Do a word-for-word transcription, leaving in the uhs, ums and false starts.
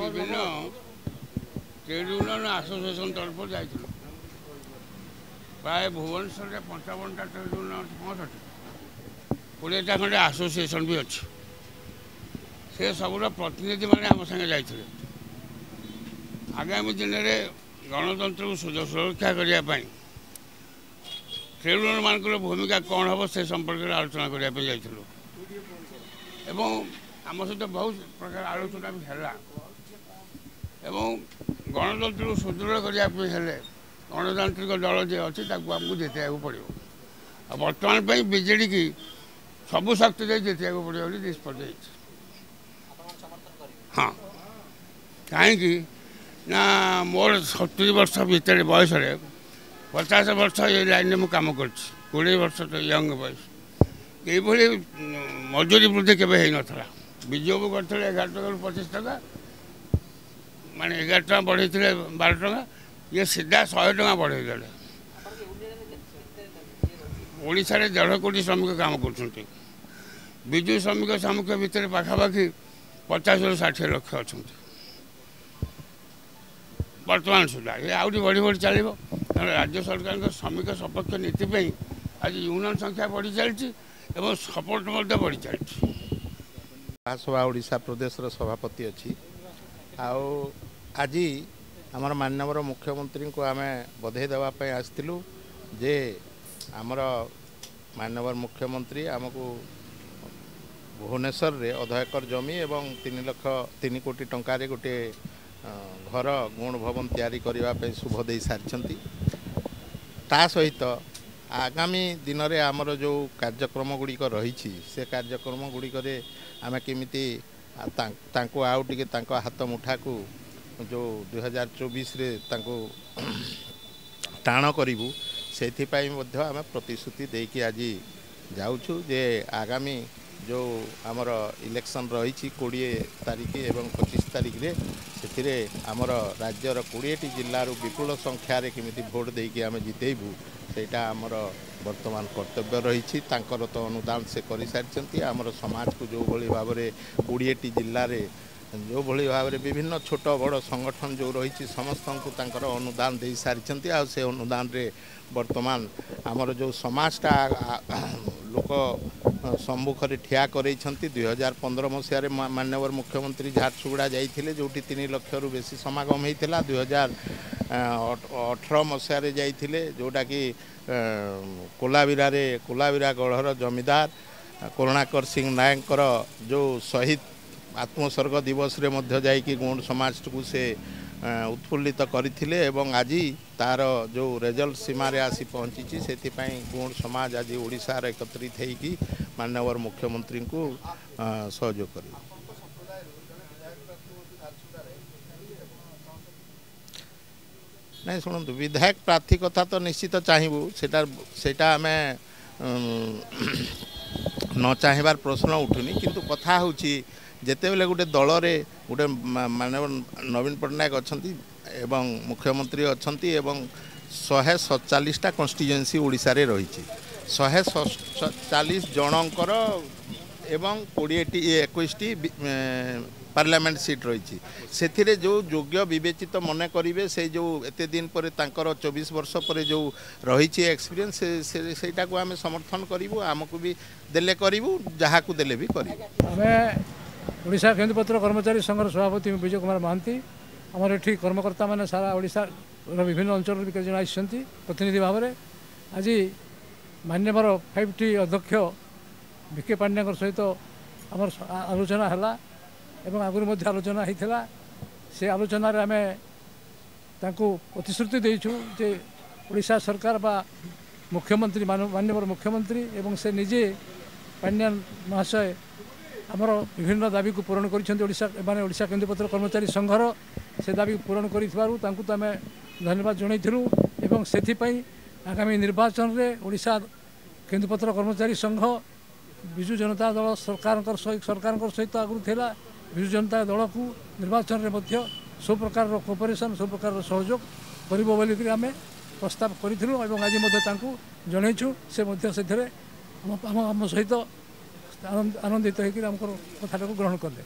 ବିଭିନ୍ନ trade union association ତରଫରୁ ଯାଇଥିଲୁ। ପ୍ରାୟ ଭୁବନେଶ୍ୱରରେ ପଞ୍ଚାବନଟା ଟ୍ରେଡ୍ ୟୁନିୟନ୍ ଅଛି, ପଞ୍ଚଷଠି କୋଡ଼ିଏଟା ଖଣ୍ଡେ ଆସୋସିଏସନ୍ ବି ଅଛି। ସେ ସବୁର ପ୍ରତିନିଧିମାନେ ଆମ ସାଙ୍ଗେ ଯାଇଥିଲେ। ଆଗାମୀ ଦିନରେ ଗଣତନ୍ତ୍ରକୁ ସୁରକ୍ଷା କରିବା ପାଇଁ ଟ୍ରେଡ୍ ୟୁନିୟନ୍ମାନଙ୍କର ଭୂମିକା କ'ଣ ହେବ ସେ ସମ୍ପର୍କରେ ଆଲୋଚନା କରିବା ପାଇଁ ଯାଇଥିଲୁ ଏବଂ ଆମ ସହିତ ବହୁତ ପ୍ରକାର ଆଲୋଚନା ବି ହେଲା। ଏବଂ ଗଣତନ୍ତ୍ରକୁ ସୁଦୃଢ଼ କରିବା ପାଇଁ ହେଲେ ଗଣତାନ୍ତ୍ରିକ ଦଳ ଯିଏ ଅଛି ତାକୁ ଆମକୁ ଜିତେଇବାକୁ ପଡ଼ିବ। ଆଉ ବର୍ତ୍ତମାନ ପାଇଁ ବିଜେଡ଼ିକି ସବୁ ଶକ୍ତି ଦେଇ ଜିତେଇବାକୁ ପଡ଼ିବ ବୋଲି ନିଷ୍ପତ୍ତି ହେଇଛି। ହଁ, କାହିଁକି ନା ମୋର ସତୁରି ବର୍ଷ ଭିତରେ ବୟସରେ ପଚାଶ ବର୍ଷ ଏ ଲାଇନ୍ରେ ମୁଁ କାମ କରିଛି, କୋଡ଼ିଏ ବର୍ଷ ତ ୟଙ୍ଗ ବୟସ। ଏଇଭଳି ମଜୁରୀ ବୃଦ୍ଧି କେବେ ହେଇନଥିଲା। ବିଜୁ ବାବୁ କରିଥିଲେ ଏଗାର ଟଙ୍କାରୁ ପଚିଶ ଟଙ୍କା, ମାନେ ଏଗାର ଟଙ୍କା ବଢ଼େଇଥିଲେ ବାର ଟଙ୍କା, ଇଏ ସିଧା ଶହେ ଟଙ୍କା ବଢ଼େଇ ଦେଲେ। ଓଡ଼ିଶାରେ ଦେଢ଼ କୋଟି ଶ୍ରମିକ କାମ କରୁଛନ୍ତି। ବିଜୁ ଶ୍ରମିକ ସାମୁଖ୍ୟ ଭିତରେ ପାଖାପାଖି ପଚାଶରୁ ଷାଠିଏ ଲକ୍ଷ ଅଛନ୍ତି ବର୍ତ୍ତମାନ ସୁଦ୍ଧା। ଏ ଆହୁରି ବଢ଼ି ବଢ଼ି ଚାଲିବ। କାରଣ ରାଜ୍ୟ ସରକାରଙ୍କ ଶ୍ରମିକ ସପକ୍ଷ ନୀତି ପାଇଁ ଆଜି ୟୁନିୟନ୍ ସଂଖ୍ୟା ବଢ଼ି ଚାଲିଛି ଏବଂ ସପୋର୍ଟ ମଧ୍ୟ ବଢ଼ି ଚାଲିଛି। ମହାସଭା ଓଡ଼ିଶା ପ୍ରଦେଶର ସଭାପତି ଅଛି। ଆଉ ଆଜି ଆମର ମାନ୍ୟବର ମୁଖ୍ୟମନ୍ତ୍ରୀଙ୍କୁ ଆମେ ବଧେଇ ଦେବା ପାଇଁ ଆସିଥିଲୁ ଯେ ଆମର ମାନ୍ୟବର ମୁଖ୍ୟମନ୍ତ୍ରୀ ଆମକୁ ଭୁବନେଶ୍ୱରରେ ଅଧ ଏକର ଜମି ଏବଂ ତିନି ଲକ୍ଷ ତିନି କୋଟି ଟଙ୍କାରେ ଗୋଟିଏ ଘର ଗୁଣ ଭବନ ତିଆରି କରିବା ପାଇଁ ଶୁଭ ଦେଇ ସାରିଛନ୍ତି। ତା ସହିତ ଆଗାମୀ ଦିନରେ ଆମର ଯେଉଁ କାର୍ଯ୍ୟକ୍ରମ ଗୁଡ଼ିକ ରହିଛି ସେ କାର୍ଯ୍ୟକ୍ରମ ଗୁଡ଼ିକରେ ଆମେ କେମିତି ତାଙ୍କୁ ଆଉ ଟିକେ ତାଙ୍କ ହାତ ମୁଠାକୁ ଯେଉଁ ଦୁଇହଜାର ଚବିଶରେ ତାଙ୍କୁ ଟାଣ କରିବୁ ସେଥିପାଇଁ ମଧ୍ୟ ଆମେ ପ୍ରତିଶ୍ରୁତି ଦେଇକି ଆଜି ଯାଉଛୁ ଯେ ଆଗାମୀ ଯେଉଁ ଆମର ଇଲେକ୍ସନ୍ ରହିଛି କୋଡ଼ିଏ ତାରିଖ ଏବଂ ପଚିଶ ତାରିଖରେ ସେଥିରେ ଆମର ରାଜ୍ୟର କୋଡ଼ିଏଟି ଜିଲ୍ଲାରୁ ବିପୁଳ ସଂଖ୍ୟାରେ କେମିତି ଭୋଟ ଦେଇକି ଆମେ ଜିତେଇବୁ ସେଇଟା ଆମର ବର୍ତ୍ତମାନ କର୍ତ୍ତବ୍ୟ ରହିଛି। ତାଙ୍କର ତ ଅନୁଦାନ ସେ କରିସାରିଛନ୍ତି। ଆମର ସମାଜକୁ ଯେଉଁଭଳି ଭାବରେ କୋଡ଼ିଏଟି ଜିଲ୍ଲାରେ ଯେଉଁଭଳି ଭାବରେ ବିଭିନ୍ନ ଛୋଟ ବଡ଼ ସଂଗଠନ ଯେଉଁ ରହିଛି ସମସ୍ତଙ୍କୁ ତାଙ୍କର ଅନୁଦାନ ଦେଇସାରିଛନ୍ତି। ଆଉ ସେ ଅନୁଦାନରେ ବର୍ତ୍ତମାନ ଆମର ଯେଉଁ ସମାଜଟା ଲୋକ ସମ୍ମୁଖରେ ଠିଆ କରେଇଛନ୍ତି। ଦୁଇ ହଜାର ପନ୍ଦର ମସିହାରେ ମାନ୍ୟବର ମୁଖ୍ୟମନ୍ତ୍ରୀ ଝାରସୁଗୁଡ଼ା ଯାଇଥିଲେ, ଯେଉଁଠି ତିନି ଲକ୍ଷରୁ ବେଶୀ ସମାଗମ ହେଇଥିଲା। ଦୁଇ ହଜାର ଅଠର ମସିହାରେ ଯାଇଥିଲେ, ଯେଉଁଟାକି କୋଲାବିରାରେ କୋଲାବିରା ଗଢ଼ର ଜମିଦାର କରୁଣାକର ସିଂ ନାୟକଙ୍କର ଯେଉଁ ଶହୀଦ ଆତ୍ମସର୍ଗ ଦିବସରେ ମଧ୍ୟ ଯାଇକି ଗୌଡ଼ ସମାଜକୁ ସେ ଉତ୍ଫୁଲ୍ଲିତ କରିଥିଲେ ଏବଂ ଆଜି ତାର ଯେଉଁ ରେଜଲ୍ଟ ସୀମାରେ ଆସି ପହଞ୍ଚିଛି। ସେଥିପାଇଁ ଗୌଡ଼ ସମାଜ ଆଜି ଓଡ଼ିଶାର ଏକତ୍ରିତ ହେଇକି ମାନ୍ୟବର ମୁଖ୍ୟମନ୍ତ୍ରୀଙ୍କୁ ସହଯୋଗ କରିବ। ନାଇଁ ଶୁଣନ୍ତୁ, ବିଧାୟକ ପ୍ରାର୍ଥୀ କଥା ତ ନିଶ୍ଚିତ ଚାହିଁବୁ, ସେଇଟା ସେଇଟା ଆମେ ନ ଚାହିଁବାର ପ୍ରଶ୍ନ ଉଠୁନି। କିନ୍ତୁ କଥା ହେଉଛି ଯେତେବେଳେ ଗୋଟେ ଦଳରେ ଗୋଟେ ମାନେ ନବୀନ ପଟ୍ଟନାୟକ ଅଛନ୍ତି ଏବଂ ମୁଖ୍ୟମନ୍ତ୍ରୀ ଅଛନ୍ତି ଏବଂ ଶହେ ସତଚାଳିଶଟା କନଷ୍ଟିଚୁଏନ୍ସି ଓଡ଼ିଶାରେ ରହିଛି, ଶହେ ସତଚାଳିଶ ଜଣଙ୍କର ଏବଂ କୋଡ଼ିଏଟି ଏକୋଇଶଟି ପାର୍ଲାମେଣ୍ଟ ସିଟ୍ ରହିଛି। ସେଥିରେ ଯେଉଁ ଯୋଗ୍ୟ ବିବେଚିତ ମନେ କରିବେ ସେଇ ଯେଉଁ ଏତେ ଦିନ ପରେ ତାଙ୍କର ଚବିଶ ବର୍ଷ ପରେ ଯେଉଁ ରହିଛି ଏକ୍ସପିରିଏନ୍ସ ସେଇଟାକୁ ଆମେ ସମର୍ଥନ କରିବୁ। ଆମକୁ ବି ଦେଲେ କରିବୁ, ଯାହାକୁ ଦେଲେ ବି କରିବୁ। ଆମେ ଓଡ଼ିଶା କେନ୍ଦୁପତ୍ର କର୍ମଚାରୀ ସଂଘର ସଭାପତି ବିଜୟ କୁମାର ମହାନ୍ତି। ଆମର ଏଠି କର୍ମକର୍ତ୍ତାମାନେ ସାରା ଓଡ଼ିଶାର ବିଭିନ୍ନ ଅଞ୍ଚଳରୁ ବି କେତେଜଣ ଆସିଛନ୍ତି ପ୍ରତିନିଧି ଭାବରେ। ଆଜି ମାନ୍ୟବର ଫାଇଭ୍ ଟି ଅଧ୍ୟକ୍ଷ ଭି କେ ପାଣ୍ଡିଆଙ୍କ ସହିତ ଆମର ଆଲୋଚନା ହେଲା ଏବଂ ଆଗରୁ ମଧ୍ୟ ଆଲୋଚନା ହେଇଥିଲା। ସେ ଆଲୋଚନାରେ ଆମେ ତାଙ୍କୁ ପ୍ରତିଶ୍ରୁତି ଦେଇଛୁ ଯେ ଓଡ଼ିଶା ସରକାର ବା ମୁଖ୍ୟମନ୍ତ୍ରୀ ମାନ୍ୟବର ମୁଖ୍ୟମନ୍ତ୍ରୀ ଏବଂ ସେ ନିଜେ ପାଣ୍ଡିଆନ ମହାଶୟ ଆମର ବିଭିନ୍ନ ଦାବିକୁ ପୂରଣ କରିଛନ୍ତି। ଓଡ଼ିଶା ମାନେ ଓଡ଼ିଶା କେନ୍ଦୁପତ୍ର କର୍ମଚାରୀ ସଂଘର ସେ ଦାବିକୁ ପୂରଣ କରିଥିବାରୁ ତାଙ୍କୁ ତ ଆମେ ଧନ୍ୟବାଦ ଜଣାଇଥିଲୁ ଏବଂ ସେଥିପାଇଁ ଆଗାମୀ ନିର୍ବାଚନରେ ଓଡ଼ିଶା କେନ୍ଦୁପତ୍ର କର୍ମଚାରୀ ସଂଘ ବିଜୁ ଜନତା ଦଳ ସରକାରଙ୍କର ସରକାରଙ୍କ ସହିତ ଆଗରୁ ଥିଲା, ବିଜୁ ଜନତା ଦଳକୁ ନିର୍ବାଚନରେ ମଧ୍ୟ ସବୁ ପ୍ରକାରର କୋଅପରେସନ୍ ସବୁ ପ୍ରକାରର ସହଯୋଗ କରିବ ବୋଲିକରି ଆମେ ପ୍ରସ୍ତାବ କରିଥିଲୁ ଏବଂ ଆଜି ମଧ୍ୟ ତାଙ୍କୁ ଜଣାଇଛୁ। ସେ ମଧ୍ୟ ସେଥିରେ ଆମ ଆମ ସହିତ ଆନନ୍ଦିତ ହୋଇକରି ଆମର କଥାଟାକୁ ଗ୍ରହଣ କଲେ।